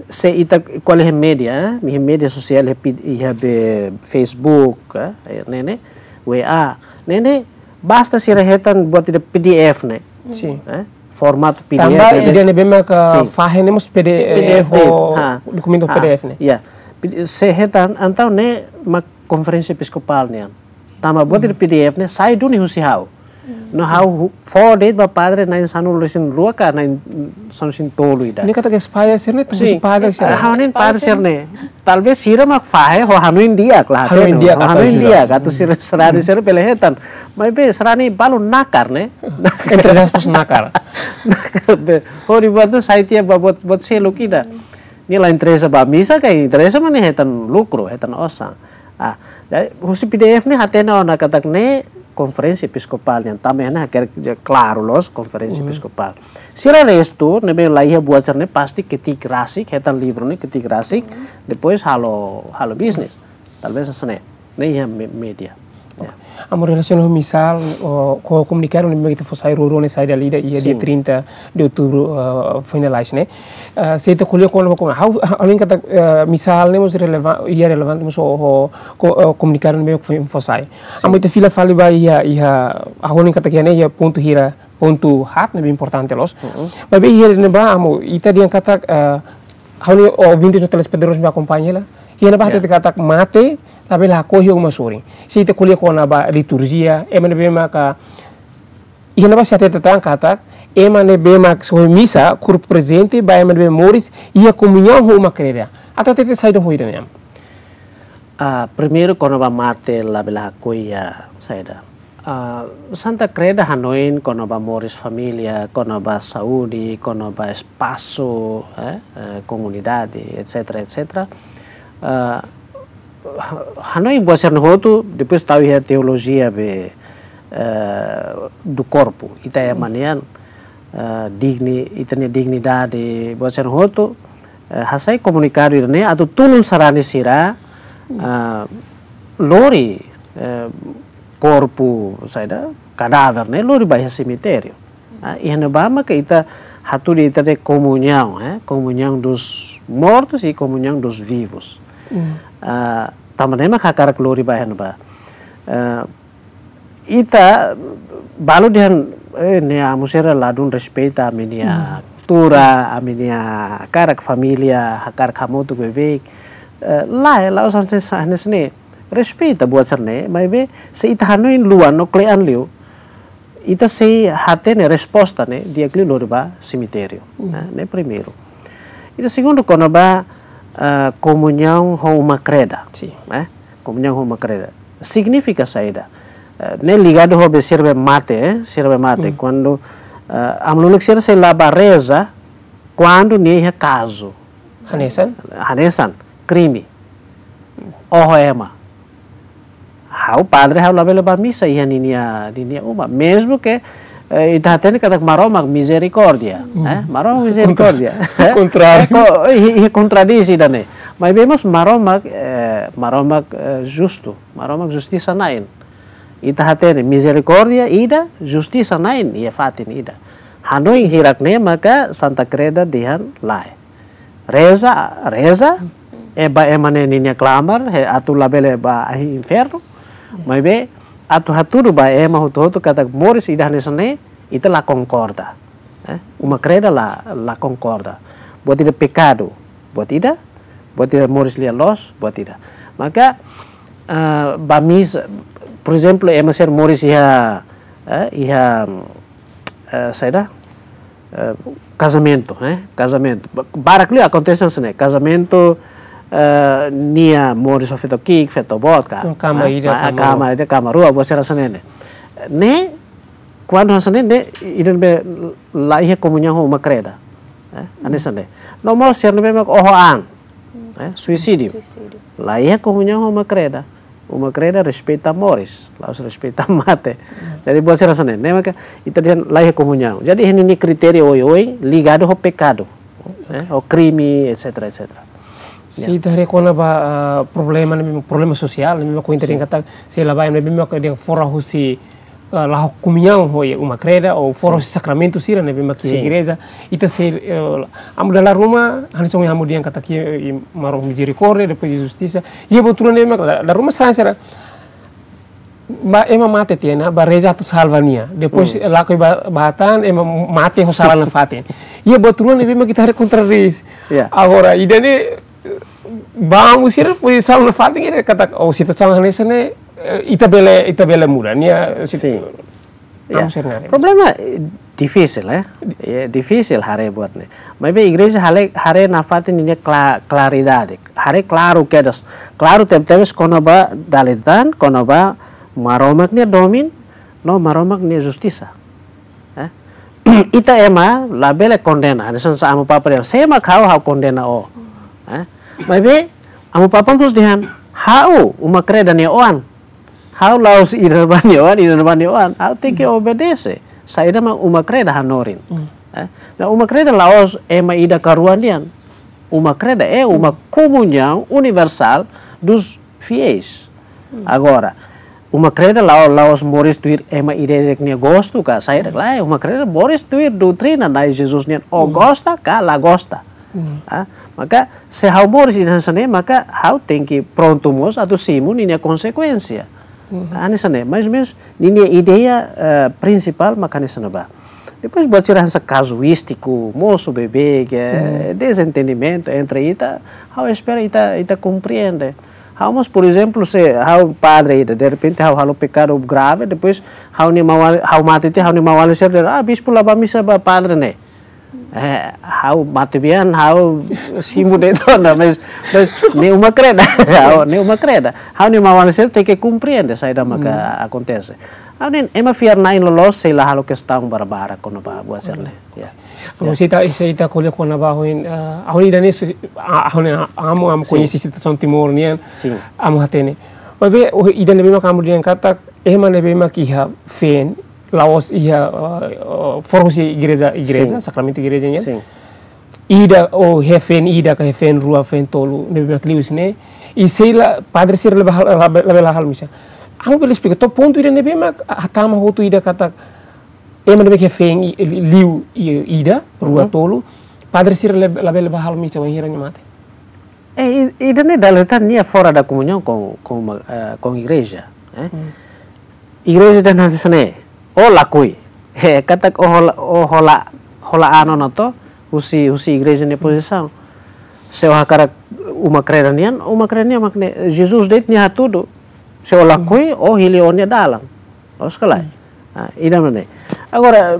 se ita ko'alia iha média, eh, iha média sosiál, iha pid-, iha be Facebook, eh, ne'e ne'e, W A, ne'e ne'e, basta sira hetan buat ida P D F ne'e. Sin. Eh, formatu P D F, tanba ne'e, ida ne'ebé maka, sin, fahe ne'e mós P D F, eh, P D F ho de'it. Ha. Dokumentu, ha, P D F ne'e. Ya. P D F, se hetan, entaun ne'e mak konferénsia episkopál nian. Tanba buat ida, hmm, P D F ne'e sai duni husi ha'u. Hmm. No ha'u hu-, fó de'it ba padre na'in sanulu-resin-rua ka na'in sanulu-resin-tolu ida. Ne'e katak espalla sira-ne'e, tuku, sin, si padre sira-ne'e. Ha'u hanoin padre sira-ne'e. Talvés sira mak fahe ho hanoin di'ak la, hanoin hatene, di'ak, ho hanoin di'ak, atu sira sarani, hmm, sira bele hetan. Maibé sarani balu nakar ne'e. Entre aspas, nakar. Nakar be. Hodi buat ne'e sai tiha ba buat, buat seluk ida. Nia la interesa ba misa, ka interesa mak nia hetan lukru, hetan osan. Ah, jadi, husi P D F ne'e hatene ona katak ne'e konferénsia episkopál nian, tanba ne'e hakerek klaru loos konferénsia, hmm, episkopál. Sira restu, ne'ebé la iha buat sira-ne'e pasti ketik rasik, hetan livru ne'e ketik rasik, hmm, depois halo, halo bisnis. Talvés hanesan ne'e, ne'e iha me-, média. Ya. Amu, relasiona ho misál, ho komunikadu ne'ebé mak ita fó sai rua-rua ne'e, saida, ida iha dia, sin, trinta de outubro, eh, finalize ne'e. Eh, se ita ko'alia kona-ba, ha'u, ha'u hanoin katak, eh, misál ne'e mós relevan-, iha relevante mós ho, ho ko-, eh, komunikadu ne'ebé mak fó, fó sai. Sin. Amu, ita fila fali ba iha, iha, ha'u hanoin katak iha ne'e iha pontu hira, pontu haat ne'ebé importante loos. Mm-mm. Maibé iha ne'ebá, amu, ita dehan katak, eh, ha'u hanoin ouvintes no telespetadores ne'ebé akompaña hela, iha ne'ebá, ya, hatete katak mate labele lakohi iha uma sorin. Se ita ko'alia kona-ba liturjia, ema ne'ebé maka, iha ne'ebá sira hatete tan katak ema ne'ebé mak soe misa, korpu prezente ba ema ne'ebé moris iha komuñaun ho uma kreda. Atu hatete saida ho ida-ne'e, amu? Ah, primeiru, kona-ba mate labele lakohi iha saida. Ah, Santa Kreda hanoin kona-ba moris família, kona-ba saúde, kona-ba espasu, eh, eh, komunidade, et cetera, et cetera. Ah, ha-, hanoin buat sira-ne'e hotu, depois tau iha teolojia be, eh, do corpo, ita ema nian, eh, digni-, ita-nia dignidade, buat sira-ne'e hotu, eh, hasai komunikadu ida-ne'e atu tulun sarani sira, eh, lori, eh, korpu, saida, kadáver ne'e lori ba iha semitériu. Ah, iha ne'ebá maka ita hatudu ita-nia komuñaun, eh, komuñaun dos mortos e komuñaun dos vivos. Hmm. Ah, tanba ne'e mak hakarak lori ba iha ne'ebá. Eh, ita balu dehan, eh, ne'e amu sira ladún respeita ami-nia, hmm, kultura, ami-nia hakarak família, hakarak hamutuk beibeik. Eh, lae, la'ós hanesan ne'e. Respeita buat sira-ne'e, maibé se ita hanoin luan no kle'an liu, ita sei hatene resposta ne'e di'ak liu lori ba semitériu. Hmm. Ne'e, ne'e primeiru. Ida segundu kona-ba, eh, komuñaun ho uma kreda. Sin. Eh, komuñaun ho uma kreda. Signifika saida? Eh, ne'e ligadu ho be sira be mate, eh, sira be mate. Hmm. Kuandu, eh, amu-lulik sira sei la bá reza, kuandu nia iha kazu. Hanesan? Hanesan, krime. Oho ema. Ha'u padre, ha'u labele bá misa iha ninia, ninia uma. Mezmu ke, eh, ita hatene katak Maromak mizerikórdia, hmm, eh? Maromak mizerikórdia. Kontra-, kontráriu. Eh, ko-, eh, iha, iha kontradisi ida-ne'e. Maibé mós Maromak, eh, Maromak, eh, justu. Maromak justisa na'in. Ita hatene mizerikórdia ida, justisa na'in, iha fatin ida. Hanoin hirak-ne'e maka Santa Kreda dehan lae. Reza, reza, e ba ema ne'e ninia klamar, he atu labele ba ahi infernu, maibé atu hatudu ba ema hotu-hotu katak moris ida hanesan ne'e, ita la konkorda. Eh, uma kreda la, la konkorda. Buat ida pekadu, buat ida, buat ida moris lia loos, buat ida. Maka, eh, ba misa, por ezemplu, ema sira moris iha, eh, iha, eh, saida, eh, kazamentu, eh, kazamentu. Ba-, barak liu akontese hanesan ne'e, kazamentu, eh, nia moris ho feto ki'ik, feto boot ka. Hmm, kama Eh, ida, ma-, kama kama rua. Ida, kama rua, buat sira hanesan ne'e. Ne'e, kuandu hanesan ne'e, ne'e, ida ne'ebé la iha komuñaun ho uma kreda. Eh, hanesan ne'e. No mós sira ne'ebé mak oho an. Eh, suisídiu. Suisídiu. La iha komuñaun ho uma kreda. Uma kreda respeita moris, la'ós respeita mate. Jadi, buat sira hanesan ne'e, ne'e maka ita dehan la iha komuñaun. Jadi, iha ninia kritéria oioin ligadu ho pekadu, eh, ho krime, et cetera, et cetera. Ya. Se ita haree kona-ba, ah, problema ne'e, problema sosiál ne'e, memang ko ita Sin. dehan katak, se la ba ne'e, memang ko dehan fora husi, ah, la iha komuñaun ho iha uma kreda, ou fora Sin. husi sakramentu sira ne'ebé mak iha Sin. igreja, ita sei, eh, amu dala ruma, hanesan ohin amu dehan katak iha, eh, Maromak mizerikórdia, depois de justisa, iha buat rua ne'ebé mak, la, dala ruma sira, sira, ba, ema mate tiha ona, ba reza atu salva nia. Depois, Hmm. lakohi ba, ba tan, ema mate ho sala nafatin. Iha buat rua ne'ebé mak ita haree kontradís. Ya. Agora, ida-ne'e, ba amu sira, depois sala nafatin, ida katak, oh, situasaun hanesan ne'e, eh, ita bele, ita bele muda. Nia, sit-, Sin. Ya. Amu sira haree. Problema, eh, difisil, eh. Ya, difisil haree buat ne'e. Maibé igreja hale-, haree nafatin ninia kla-, klaridade. Haree klaru kedas. Klaru tebetebes kona-ba dala ida tan, kona-ba Maromak nia domin, no Maromak nia justisa. Eh? Ita ema labele kondena. Hanesan sá Amu Papa dehan, sé mak ha'u, ha'u kondena ó. Eh? Maibé, Amu Papa mós dehan, ha'u, uma kreda nia oan. Ha'u la'ós ida-ne'ebá nia oan, ida-ne'ebá nia oan. Ha'u tenke obedese. Saida mak uma kreda hanorin. Hmm. Eh? No uma kreda la'ós ema ida ka rua nian. Uma kreda é uma komuñaun universál dos fiéis. Hmm. Agora, uma kreda la'o-, la'ós moris tuir ema ida-idak nia gostu ka saida, lae, uma kreda moris tuir doutrina Na'i Jesus nian, ó Hmm. gosta ka la gosta. Hmm. Ah, maka, se ha'u moris ida hanesan ne'e, maka ha'u tenke prontu mós atu simu ninia konsekuénsia. Hmm. Ah, hanesan ne'e, mais ou menos, ninia ideia, eh, prinsipál maka hanesan ne'ebá. Depois, buat sira hanesan kazuístiku, mosu beibeik, eh, Hmm. dezentendimentu entre ita, ha'u espera ita, ita komprende. Ha'u mós, por ezemplu, se ha'u padre ida, derrepente ha'u halo pekadu grave, depois ha'u-nia maun-alin, ha'u mate tiha, ha'u-nia maun-alin sira dehan, ah, bispu la bá misa ba padre ne'e. Eh, ha'u matebian, ha'u simu de'it ona, mais, mais ne'e uma kreda, ha'u, ne'e uma kreda. Ha'u-nia maun-alin sira tenke komprende saida maka Hmm. akontese. Ha'u dehan, ema fiar-na'in loloos sei la halo kestaun barbarak kona-ba buat sira ne'e. Ya. Amu, Ya. se ita, se ita ko'alia kona-ba ohin, eh, ohin ida-ne'e su-, ah, ohin amu, amu Sin. koñese situasaun Timor nian, Sin. amu hatene. Maibé, ohin ida-ne'ebé mak amu dehan katak, ema ne'ebé mak iha feen, la'ós iha, eh, eh, fora husi igreja, igreja, Sin. sakramentu igreja nian. Sin. Ida, ou iha feen ida, ka iha feen rua, feen tolu, ne'ebé mak liu husi ne'e. I sei la, padre sira labele hal-, labele, labele la halo misa. Amu bele esplika, to'o pontu ida ne'ebé mak hatama hotu ida katak, ema ne'ebé ke feen i-, li-, liu i-, ida, rua, Mhm. tolu, padre sira lab-, labele bá halo misa, wainhira nia mate. Eh, i-, ida-ne'e dala ida tan nia fora da komuñaun com, com, eh, com igreja, eh? Hmm. Igreja dehan hanesan ne'e, ó lakohi. Eh, katak ó hola, ó hola, hola an ona to'o, husi, husi igreja nia pozisaun. Se ó hakarak uma kreda nian, uma kreda nian mak ne'e, Jesus de'it nia hatudu. Se ó lakohi, Hmm. ó hili ó-nia dalan. Loos ka lae? Hmm. Ah, ida-ne'e. Agora,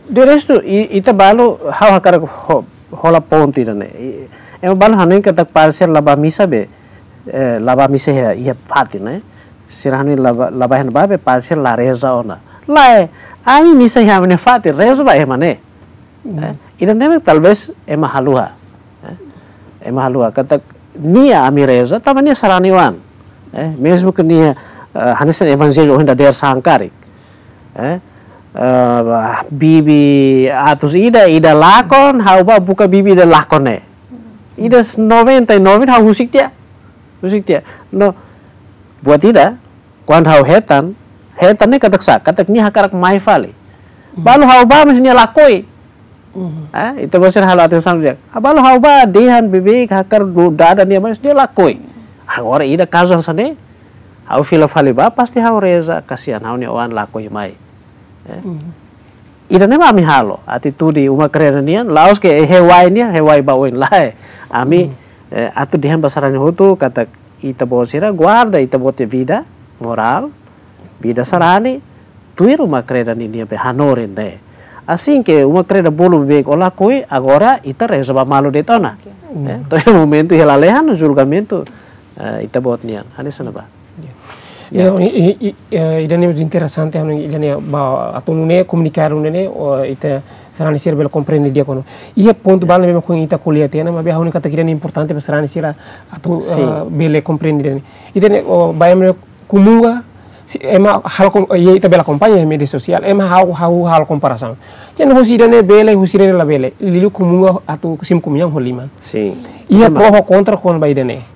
de restu, i-, ita balu, ha'u hakarak ho-, hola pontu ida-ne'e. I-, ema balu hanoin katak padre sira la bá misa be, eh, la bá misa iha, iha fatin ne'e. Sira hanoin la bá, la bá iha ne'ebá be padre sira la reza ona. Lae, ami misa iha ami-nia fatin, reza ba ema ne'e. Hmm. Eh, ida-ne'e talvés ema haluha. Eh, ema haluha katak nia ami reza, tanba nia sarani oan. Eh, mezmu ke nia, eh, hanesan evanjellu ohin dadeer-saan karik. Eh, eh, bibi atus ida, ida lakon, ha'u bá buka bibi ida lakon ne'e. Ida s-, noventa e nove ha'u husik tiha. Husik tiha. No, buat ida, kuandu ha'u hetan, hetan ne'e katak sá, katak nia hakarak mai fali. Hmm. Balu ha'u bá, mais nia lakohi. Hmm. Ah, ita-boot sira halo atensaun di'ak. Ah, balu ha'u bá, dehan beibeik, hakarak du-, dada nia, mais nia lakohi. Agora, ida kazu hanesan ne'e, Ha'u fila fali bá, pasti ha'u reza, kasihan ha'u-nia oan lakohi mai. Eh? Ida-ne'e mak ami halo, atitude uma kreda nian, la'ós ke hewai nian, hewai ba oin lae. Ami, eh, atu dehan ba sarani hotu, katak ita-boot sira, guarda ita-boot nia vida morál, vida sarani, tuir uma kreda ninia be hanorin ne'e. Asin ke uma kreda bolu be o lakohi, agora ita reza ba malu de'it ona. Eh, to'o iha momentu iha lalehan, julgamentu, eh, ita-boot nian. Hanesan ne'ebá. Ya. Ya, i, i, i, eh, ida-ne'e interesante, anu, ida-ne'e ba, atu nune'e komunikadu ne'e, o, ita sarani sira bele komprende di'ak ona. Iha pontu balu ne'ebé mak ita ko'alia tiha ona, maibé ha'u hanoin katak ida-ne'e importante ba sarani sira atu, eh, bele komprende ida-ne'e. Ida-ne'e, o, ba ema komunga, se ema halo kom-, iha ita bele akompaña iha média sosiál, ema ha'u, ha'u halo komparasaun. Entaun husi ida-ne'e bele, husi ida-ne'e labele. Liuliu komunga atu simu komuñaun ho liman. Sin. Iha pro ho kontra kona-ba ida-ne'e.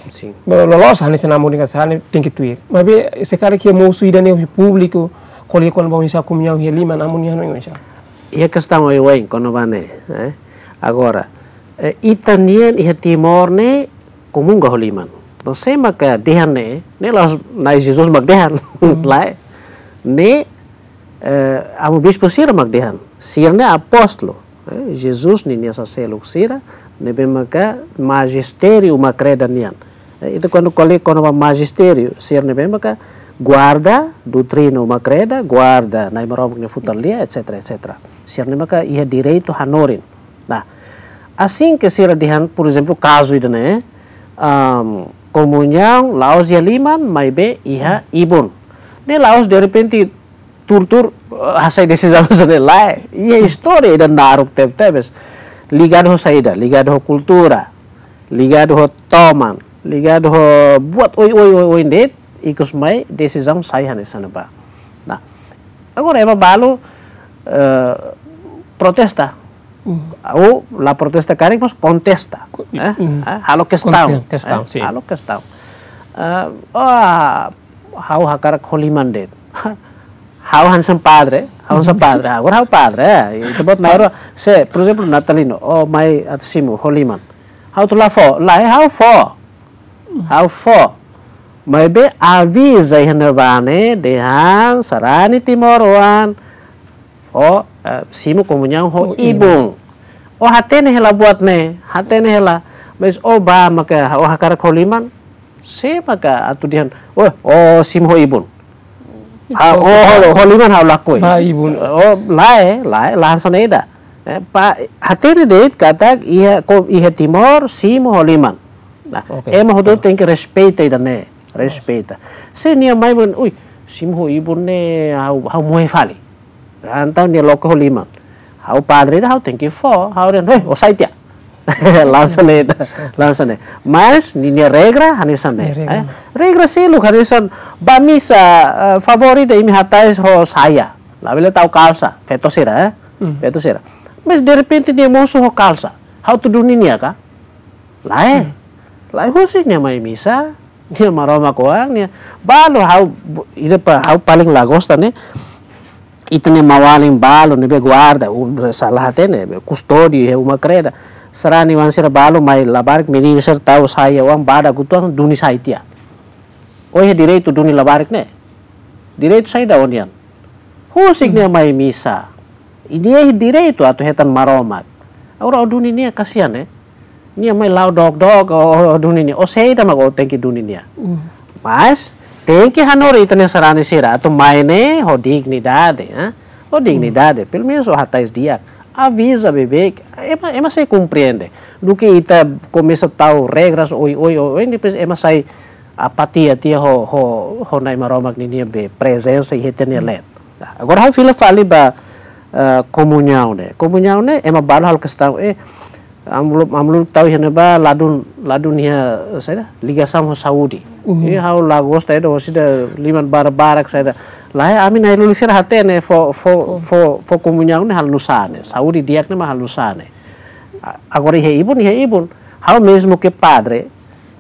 Sin. Loloos hanesan amu dehan sarani tenke tuir. Maibé se karik iha mosu ida-ne'e husi públiku, ko'alia kona-ba oinsá komuñaun iha liman, amu nia hanoin oinsá? Iha kestaun oioin kona-ba ne'e, eh? Agora, eh, ita-nian iha Timor ne'e komunga ho liman. Entaun sé maka dehan ne'e, ne'e la'ós Na'i Jesus mak dehan, lae. Ne'e, eh, amu bispu sira mak dehan, sira-ne'e apóstolu, eh, Jesus ninia saseluk sira, ne'ebé maka majistériu uma kreda nian. Eh, ita kuandu ko'alia kona-ba majistériu, sira ne'ebé maka guarda doutrina uma kreda, guarda Na'i Maromak nia futar lia, et cetera, et cetera. Sira-ne'e maka iha direitu hanorin. Nah, asin ke sira dehan, por ezemplu, kazu ida-ne'e, am, komuñaun la'ós iha liman, maibé iha ibun. Ne'e la'ós derrepente tuur-tuur, eh, hasai desizaun hanesan ne'e, lae. Iha istória ida naruk tebetebes. Ligadu ho saida, ligadu ho kultura, ligadu ho toman, ligadu ho buat oioin, oioin, oioin de'it, ikus mai desizaun sai hanesan ne'ebá. Nah, agora ema balu, eh, protesta. Ou la protesta karik, mas kontesta. Eh? Eh, halo kestaun. Kestaun, eh, sin. Halo kestaun. Eh, oh, ha'u hakarak ho liman de'it. Ha'u hanesan padre, ha'u hanesan padre. Agora ha'u padre, eh. Ita-boot na'in-rua, se, por ezemplu, Natalino, o mai atu simu ho liman. Ha'u atu la fó, lae, ha'u fó. Ha'u fó. Maibé aviza iha ne'ebá ne'e, dehan sarani timoroan fó, eh, simu komuñaun ho ibun. O hatene hela buat ne'e, hatene hela. Mas o bá maka o hakarak ho liman, sé maka atu dehan, o, o simu ho ibun. Ha, o, ho, ho liman ha'u lakohi. Ba ibun. O, lae, lae, la hanesan ne'e ida. Eh, pa, hatene de'it katak iha, ko, iha Timor, simu ho liman. Nah, oke, ema hotu tenke respeita ida-ne'e, respeita. Se nia mai mak, ui, simu ho ibun ne'e, ha'u, ha'u moe fali. Entaun nia loke ho liman. Ha'u padre ida ha'u tenke fó, ha'u dehan, hei, o sai tiha. Hanesan ne'e, hanesan ne'e. Mas, ninia regra, hanesan ne'e. Nia regra. Eh? Regra seluk, hanesan, bá misa, eh, favór ida imi hatais ho saia. Labele tau kalsa, feto sira, eh? Feto sira. Mas, derrepente, nia mosu ho kalsa. Ha'u atu duni nia ka? Lae. Lae husik nia mai misa. Nia Maromak oan, nia balu ha'u, bu-, ida pa, ha'u paling la gosta ne'e. Ita-nia maun-alin balu ne'ebé guarda, u-, sala hatene, be, kustódiu iha uma kreda. Sarani oan sira balu mai labarik, menina sira tau saia oan badak uitoan duni sai tiha. O iha direitu duni labarik ne'e? Direitu saida ó-nian? Husik nia mai misa. I nia iha direitu atu hetan Maromak. Agora ó duni nia kasihan, eh? Nia mai la'o dook-dook, ó, ó duni nia. Ó saida mak ó tenke duni nia. Mas, tenke hanorin ita-nia sarani sira, atu mai ne'e, ho dignidade, eh? Ho dignidade, pelumenus ó hatais di'ak. Aviza beibeik, ema, ema sei komprende. Duké ita komesa tau regras, oioin, oioin, depois ema sai apatia tiha ho, ho, ho Na'i Maromak ninia be prezensa iha ita-nia leet. Nah, agora ha'u fila fali ba, eh, komuñaun ne'e. Komuñaun ne'e, ema balu halo kestaun, eh, amu-, amu-, tau iha ne'ebá ladún, ladún iha, saida, ligasaun ho saúde. I ha'u la gosta ida, orsida liman barak-barak, saida. Lae, ami na'in-lulik sira hatene, fó, fó, fó, fó komuñaun ne'e halo nusá ne'e. Saúde di'ak ne'e mak halo nusá ne'e. A-, agora iha ibun, iha ibun. Ha'u mezmu ke padre,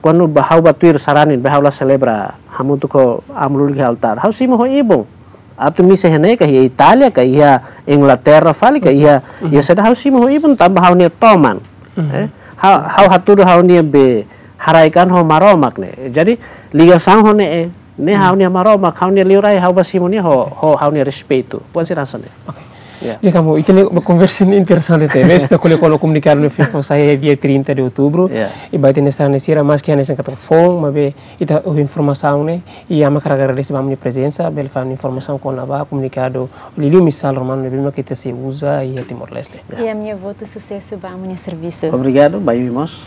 kuandu bá ha'u bá tuir sarani, bá ha'u la selebra hamutuk ho amu-lulik iha altár. Ha'u simu ho ibun. Atu misa iha ne'e ka iha Itália, ka iha Inglaterra fali, ka iha, iha saida, ha'u simu ho ibun tanba ha'u-nia toman. Eh? Ha'u, ha'u hatudu ha'u-nia be haraik-an ho Maromak ne'e. Jadi, ligasaun ho ne'e, eh, Ne'e ha'u-nia Maromak, ha'u-nia liurai, ha'u bá simu nia ho, ho ha'u-nia respeitu. Buat sira hanesan ne'e. Oke. Ya. Jadi kamu, ita-nia konversa ne'e interesante tebes, ita ko'alia kona-ba komunikadu ne'ebé foin sai iha dia trinta de outubro. Ya. I ba ita-nia sarani sira, maski hanesan katak foun, maibé ita ho informasaun ne'e, i ami hakarak agradese ba ami-nia prezensa, bele fó informasaun kona-ba komunikadu liuliu misál romanu ne'ebé mak ita sei uza iha Timor-Leste. Ya. I ami-nia votu susesu ba ami-nia servisu. Obrigadu, ba imi mós.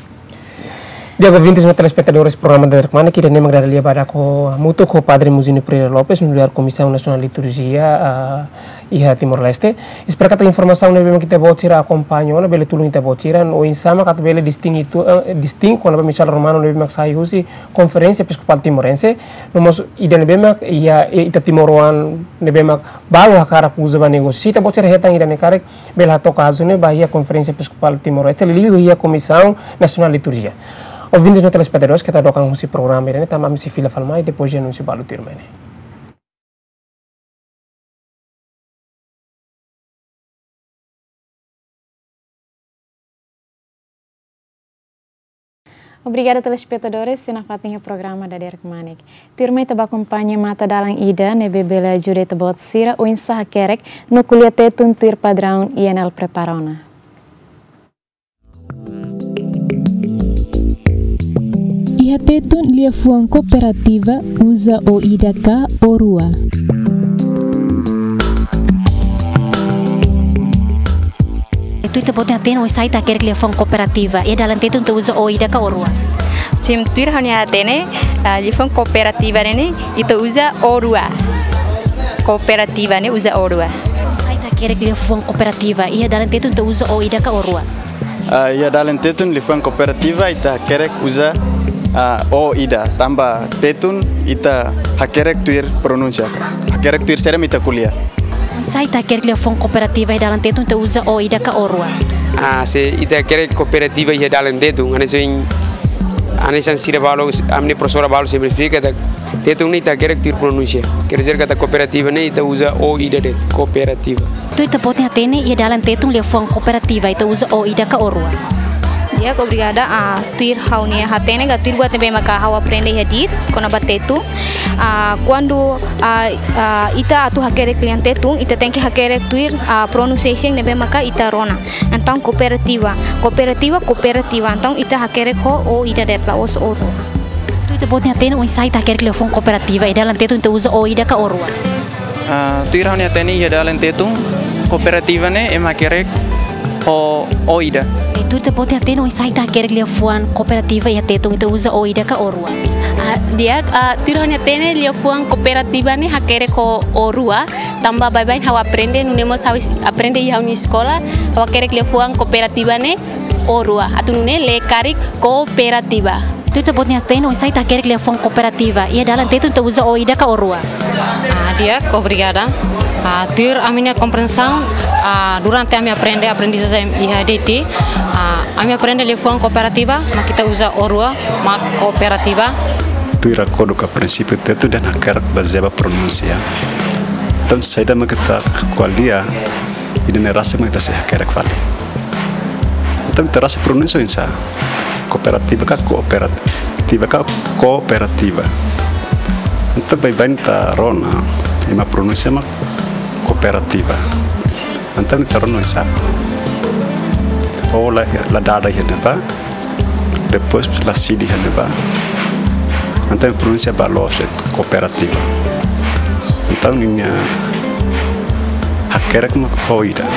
Di'ak, ouvintes no telespetadores programa Daderkmanek, ida-ne'e mak dada lia badak hamutuk ho Padre Muzinho Pereira Lopes, nu'udar Komisaun Nasionál Liturjia, ah, iha Timor-Leste. Espera katak informasaun ne'ebé mak ita-boot sira akompaña ona bele tulun ita-boot sira, no oinsá mak atu bele distingi tu, eh, distingi kona-ba misál romanu ne'ebé mak sai husi Konferénsia Episkopál Timorense, no mós ida ne'ebé mak iha, eh, ita timoroan ne'ebé mak balu hakarak uza ba negósiu. Se ita-boot sira hetan ida-ne'e karik, bele hato'o kazu ne'e ba iha Konferénsia Episkopál Timor-Leste, liuliu iha Komisaun Nasionál Liturjia. Ouvintes no telespetadores, keta dook an husi programa ida-ne'e, tanba ami sei fila fali mai depois de anúnsiu balu tuirmai ne'e. Obrigada, telespetadores, sira nafatin iha programa Daderkmanek. Tuirmai ita bá akompaña matadalan ida ne'ebé bele ajuda ita-boot sira oinsá hakerek no ko'alia Tetun tuir padraun I N L prepara ona. Iha Tetun liafuan kooperativa uza ó ida ka ó rua. Tuir ita-boot nia hatene oinsá ita hakerek liafuan kooperativa, iha dalan Tetun ita uza ó ida ka ó rua? Sim, tuir ha'u-nia hatene, ah, liafuan kooperativa ne'e ne'e ita uza ó rua. Kooperativa ne'e uza ó rua. Oinsá ita hakerek liafuan kooperativa, iha dalan Tetun ita uza ó ida ka ó rua? Ah, iha dalan Tetun liafuan kooperativa ita hakerek uza, ah, ó ida, tanba Tetun ita hakerek tuir pronúnsia ka, hakerek tuir saida mak ita ko'alia. Oinsá ita hakerek liafuan kooperativa iha dalan Tetun ita uza ó ida ka ó rua? Ah, se ita hakerek kooperativa iha dalan Tetun, hanesan, hanesan sira balu, ami-nia profesora balu sempre esplika katak Tetun ne'e ita hakerek tuir pronúnsia. Quer dizer katak kooperativa ne'e ita uza ó ida de'it, kooperativa. Tuir ita-boot nia hatene iha dalan Tetun liafuan kooperativa ita uza ó ida ka ó rua? Di'ak, obrigada. Ah, tuir ha'u-nia hatene ka tuir buat ne'ebé maka ha'u aprende iha dit kona-ba Tetun. Ah, kuandu, ah, ah, ita atu hakerek lian Tetun, ita tenke hakerek tuir, ah, pronunciation ne'ebé maka ita rona. Entaun kooperativa, kooperativa, kooperativa. Entaun ita hakerek ho ó ida de'it, la'ós ó rua. Tuir ita-boot nia hatene oinsá ita hakerek liafuan kooperativa, iha dalan Tetun ita uza ó ida ka ó rua? Ah, tuir ha'u-nia hatene iha dalan Tetun, kooperativa ne'e ema hakerek ho ó ida. I tuir ita-boot nia hatene oinsá ita hakerek liafuan kooperativa iha Tetun ita uza ó ida ka ó rua? Ah, di'ak, ah, tuir ha'u-nia hatene liafuan kooperativa ne'e hakerek ho ó rua, tanba baibain ha'u aprende, nune'e mós ha'u is-, aprende iha ha'u-nia eskola, ha'u hakerek liafuan kooperativa ne'e ó rua. Atu nune'e lee karik kooperativa. Tuir ita-boot nia hatene oinsá ita hakerek liafuan kooperativa, iha dalan Tetun ita uza ó ida ka ó rua? Ah, di'ak, obrigada. Ah, tuir ami-nia kompreensaun, ah, durante ami aprende, aprendizajen iha D T, ah, ami aprende liafuan kooperativa, mak ita uza ó rua, mak kooperativa. Tuir akordu ka prinsípiu Tetun ita hakerek bazeia ba pronúnsia. Entaun, saida mak ita ko'alia, ida-ne'e rasik mak ita sei hakerek fali. Entaun, ita rasik pronúnsia oinsá? Kooperativa ka kooperativa ka kooperativa? Entaun, baibain ita rona, ema pronúnsia mak kooperativa. Entaun, ita rona oinsá? Ó la, la dada iha ne'ebá, depois la sidi iha ne'ebá. Entaun, pronúnsia ba loos de'it, kooperativa. Entaun, ninia hakerek mak ó ida.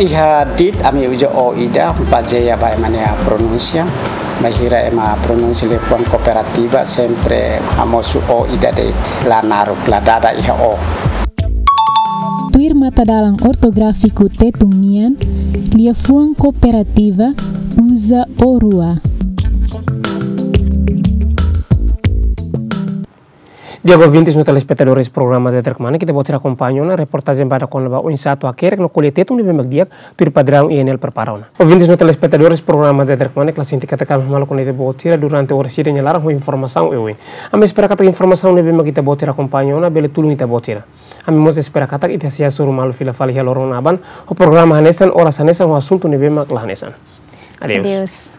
Iha dit ami uza ó ida, bazeia ba ema nia pronúnsia. Bainhira ema pronúnsia liafuan kooperativa, sempre hamosu ó ida de'it, la naruk, la dada iha ó. Tuir matadalan ortográfiku Tetun nian, liafuan kooperativa uza ó rua. Di'ak, ouvintes no telespetadores programa Daderkmanek, ita-boot sira akompaña ona reportajen badak kona-ba oinsá atu hakerek no ko'alia Tetun ne'ebé mak di'ak, tuir padraun I N L prepara ona. Ouvintes no telespetadores programa Daderkmanek, la sente katak ami malu kona ita-boot sira durante oras ida nia laran ho informasaun oioin. Ami espera katak informasaun ne'ebé mak ita-boot sira akompaña ona bele tulun ita-boot sira. Ami mós espera katak ita sei hasoru malu fila fali iha loron aban ho programa hanesan, oras hanesan, ho asuntu ne'ebé mak la hanesan. Adeus. Adeus.